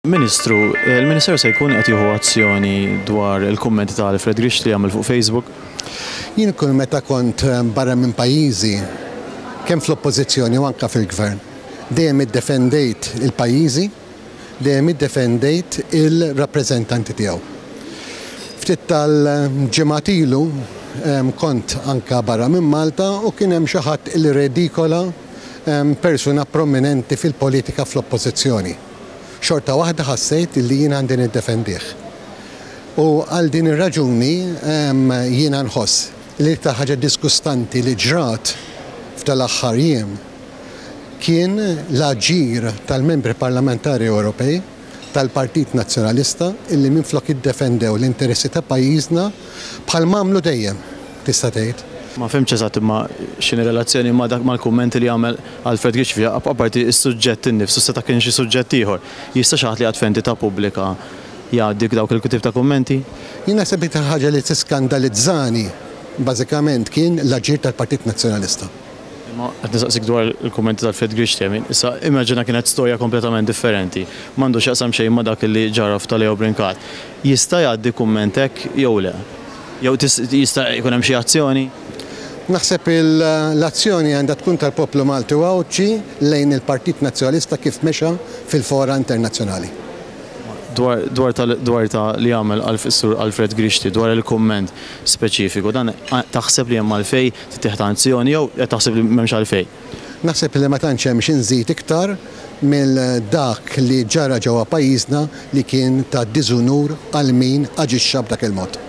Ministru, il-Ministeru se jkun qed jieħu azzjoni dwar il-kummenti ta' Alfred Grixti li għamel fuq Facebook? Jien kull meta kont barra minn pajjiżi, kemm fl-Oppożizzjoni u anke fil-Gvern, dejjem iddefendejt il-pajjiżi, dejjem iddefendejt il-rappreżentanti tiegħu. Ftit tal-ġimgħat ilu kont anke barra minn Malta u kien hemm xi ħadd li rredikola persuna prominenti fil-politika fl-Oppożizzjoni. Xorta waħda ħassejt li jien għandi niddefendih. U għal din ir-raġuni jiena nħoss li l-iktar ħaġa disgustanti li ġrat f'dal-aħħar jiem kien l-aġir tal-Membri Parlamentari Ewropej tal-Partit Nazzjonalista illi minflok iddefendew l-interessi ta' pajjiżna bħal m'għamlu dejjem, tista' tgħid. Ma fhimtx eżatt imma x'inhi relazzjoni ma' dak mal-kummenti li għamel Alfred Grixfi, apparti s-suġġett innifsu seta' kien xi suġġett ieħor. Jista' xi ħadd li qiegħed f'entità pubblika jgħaddi dawk il-tip ta' kummenti? Jien naħseb l-iktar ħaġa li tiskandalizzani bażikament kien l-aġir tal-Partit Nazzjonalista. Imma qed nistaqsik dwar il-kummenti ta' Alfred Grixti, I mean, issa immaġina kienet storja kompletament differenti, m'għandu x'jaqsam xejn ma' dak li ġara f'ta' Leo Brincat. Jista' jgħaddi kumment hekk jew le? Jew jista' jkun hemm xi azzjoni? Naħseb l-azzjoni għandha tkun tal-poplu Malti u Għawdxi lejn il-Partit Nazzjonalista kif mexa fil-fora internazzjonali. Dwar dwar ta' dwar ta' li għamel is-Sur Alfred Grixti dwar il-kumment speċifiku, dan taħseb li hemm għalfejn tittieħed azzjoni jew qed taħseb li m'hemmx għalfejn? Naħseb li ma tantx hemm xi nżid iktar mill dak li ġara ġewwa pajjiżna li kien ta' diżunur għal min aġixxa b'dak il-mod.